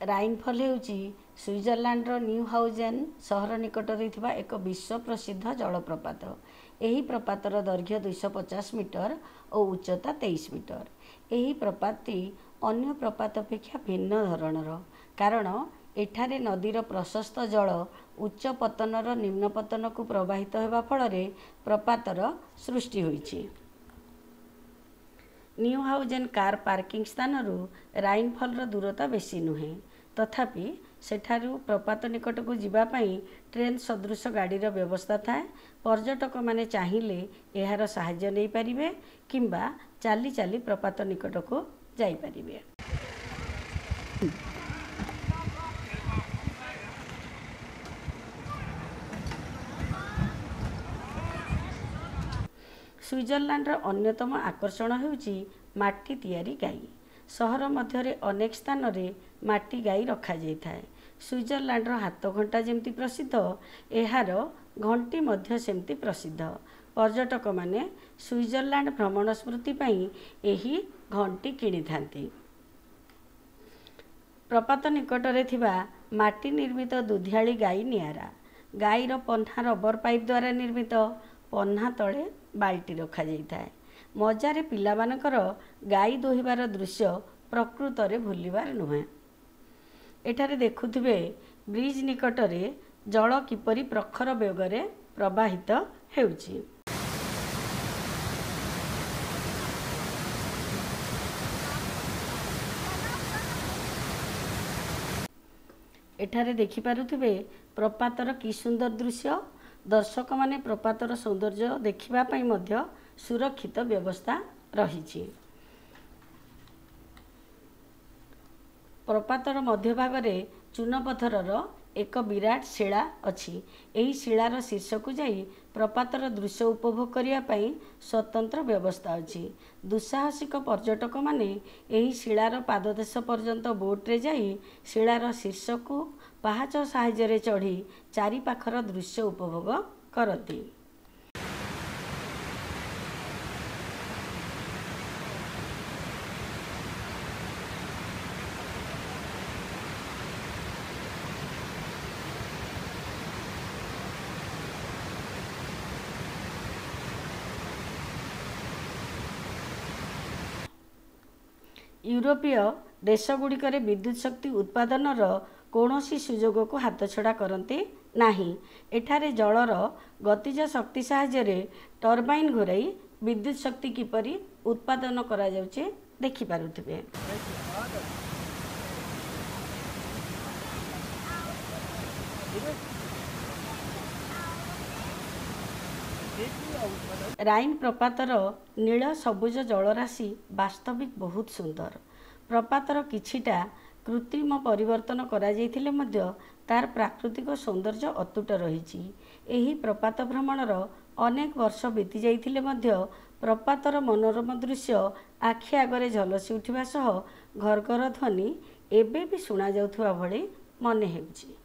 ରାଇନଫଲ୍ ହେଉଛି ସୁଇଜରଲ୍ୟାଣ୍ଡର ନ୍ୟୁହାଉଜେନ୍ ସହର ନିକଟରେ ଥିବା ଏକ ବିଶ୍ୱ ପ୍ରସିଦ୍ଧ ଜଳପ୍ରପାତ। ଏହି ପ୍ରପାତର ଦୈର୍ଘ୍ୟ 250 ମିଟର ଓ ଉଚ୍ଚତା 23 ମିଟର। ଏହି ପ୍ରପାତଟି ଅନ୍ୟ ପ୍ରପାତ ଅପେକ୍ଷା ଭିନ୍ନ ଧରଣର, କାରଣ ଏଠାରେ ନଦୀର ପ୍ରଶସ୍ତ ଜଳ ଉଚ୍ଚ ପତନର ନିମ୍ନ ପତନକୁ ପ୍ରବାହିତ ହେବା ଫଳରେ ପ୍ରପାତର ସୃଷ୍ଟି ହୋଇଛି। ନ୍ୟୁହାଉଜେନ୍ କାର୍ ପାର୍କିଂ ସ୍ଥାନରୁ ରାଇନଫଲ୍‌ର ଦୂରତା ବେଶୀ ନୁହେଁ। ତଥାପି ସେଠାରୁ ପ୍ରପାତ ନିକଟକୁ ଯିବା ପାଇଁ ଟ୍ରେନ୍ ସଦୃଶ ଗାଡ଼ିର ବ୍ୟବସ୍ଥା ଥାଏ। ପର୍ଯ୍ୟଟକମାନେ ଚାହିଁଲେ ଏହାର ସାହାଯ୍ୟ ନେଇପାରିବେ କିମ୍ବା ଚାଲି ଚାଲି ପ୍ରପାତ ନିକଟକୁ ଯାଇପାରିବେ। ସୁଇଜରଲ୍ୟାଣ୍ଡର ଅନ୍ୟତମ ଆକର୍ଷଣ ହେଉଛି ମାଟି ତିଆରି ଗାଈ। ସହର ମଧ୍ୟରେ ଅନେକ ସ୍ଥାନରେ ମାଟି ଗାଈ ରଖାଯାଇଥାଏ। ସୁଇଜରଲ୍ୟାଣ୍ଡର ହାତଘଣ୍ଟା ଯେମିତି ପ୍ରସିଦ୍ଧ, ଏହାର ଘଣ୍ଟି ମଧ୍ୟ ସେମିତି ପ୍ରସିଦ୍ଧ। ପର୍ଯ୍ୟଟକମାନେ ସୁଇଜରଲ୍ୟାଣ୍ଡ ଭ୍ରମଣ ସ୍ମୃତି ପାଇଁ ଏହି ଘଣ୍ଟି କିଣିଥାନ୍ତି। ପ୍ରପାତ ନିକଟରେ ଥିବା ମାଟି ନିର୍ମିତ ଦୁଧିଆଳି ଗାଈ ନିଆରା। ଗାଈର ପହ୍ନା ରବର ପାଇପ୍ ଦ୍ୱାରା ନିର୍ମିତ। ପହ୍ନା ତଳେ ବାଲ୍ଟି ରଖାଯାଇଥାଏ। ମଜାରେ ପିଲାମାନଙ୍କର ଗାଈ ଦୁହିଁବାର ଦୃଶ୍ୟ ପ୍ରକୃତରେ ଭୁଲିବାର ନୁହେଁ। ଏଠାରେ ଦେଖୁଥିବେ ବ୍ରିଜ୍ ନିକଟରେ ଜଳ କିପରି ପ୍ରଖର ବେଗରେ ପ୍ରବାହିତ ହେଉଛି। ଏଠାରେ ଦେଖିପାରୁଥିବେ ପ୍ରପାତର କି ସୁନ୍ଦର ଦୃଶ୍ୟ। ଦର୍ଶକମାନେ ପ୍ରପାତର ସୌନ୍ଦର୍ଯ୍ୟ ଦେଖିବା ପାଇଁ ମଧ୍ୟ ସୁରକ୍ଷିତ ବ୍ୟବସ୍ଥା ରହିଛି। ପ୍ରପାତର ମଧ୍ୟଭାଗରେ ଚୂନପଥରର ଏକ ବିରାଟ ଶିଳା ଅଛି। ଏହି ଶିଳାର ଶୀର୍ଷକୁ ଯାଇ ପ୍ରପାତର ଦୃଶ୍ୟ ଉପଭୋଗ କରିବା ପାଇଁ ସ୍ୱତନ୍ତ୍ର ବ୍ୟବସ୍ଥା ଅଛି। ଦୁଃସାହସିକ ପର୍ଯ୍ୟଟକମାନେ ଏହି ଶିଳାର ପାଦଦେଶ ପର୍ଯ୍ୟନ୍ତ ବୋଟରେ ଯାଇ ଶିଳାର ଶୀର୍ଷକୁ ପାହାଚ ସାହାଯ୍ୟରେ ଚଢ଼ି ଚାରିପାଖର ଦୃଶ୍ୟ ଉପଭୋଗ କରନ୍ତି। ୟୁରୋପୀୟ ଦେଶଗୁଡ଼ିକରେ ବିଦ୍ୟୁତ ଶକ୍ତି ଉତ୍ପାଦନର କୌଣସି ସୁଯୋଗକୁ ହାତଛଡ଼ା କରନ୍ତି ନାହିଁ। ଏଠାରେ ଜଳର ଗତିଜ ଶକ୍ତି ସାହାଯ୍ୟରେ ଟର୍ବାଇନ୍ ଘୂରାଇ ବିଦ୍ୟୁତ ଶକ୍ତି କିପରି ଉତ୍ପାଦନ କରାଯାଉଛି ଦେଖିପାରୁଥିବେ। ରାଇନ୍ ପ୍ରପାତର ନୀଳ ସବୁଜ ଜଳରାଶି ବାସ୍ତବିକ ବହୁତ ସୁନ୍ଦର। ପ୍ରପାତର କିଛିଟା କୃତ୍ରିମ ପରିବର୍ତ୍ତନ କରାଯାଇଥିଲେ ମଧ୍ୟ ତାର ପ୍ରାକୃତିକ ସୌନ୍ଦର୍ଯ୍ୟ ଅତୁଟ ରହିଛି। ଏହି ପ୍ରପାତ ଭ୍ରମଣର ଅନେକ ବର୍ଷ ବିତି ଯାଇଥିଲେ ମଧ୍ୟ ପ୍ରପାତର ମନୋରମ ଦୃଶ୍ୟ ଆଖି ଆଗରେ ଝଲସି ଉଠିବା ସହ ଘର୍ଘର ଧ୍ୱନି ଏବେ ବି ଶୁଣାଯାଉଥିବା ଭଳି ମନେ ହେଉଛି।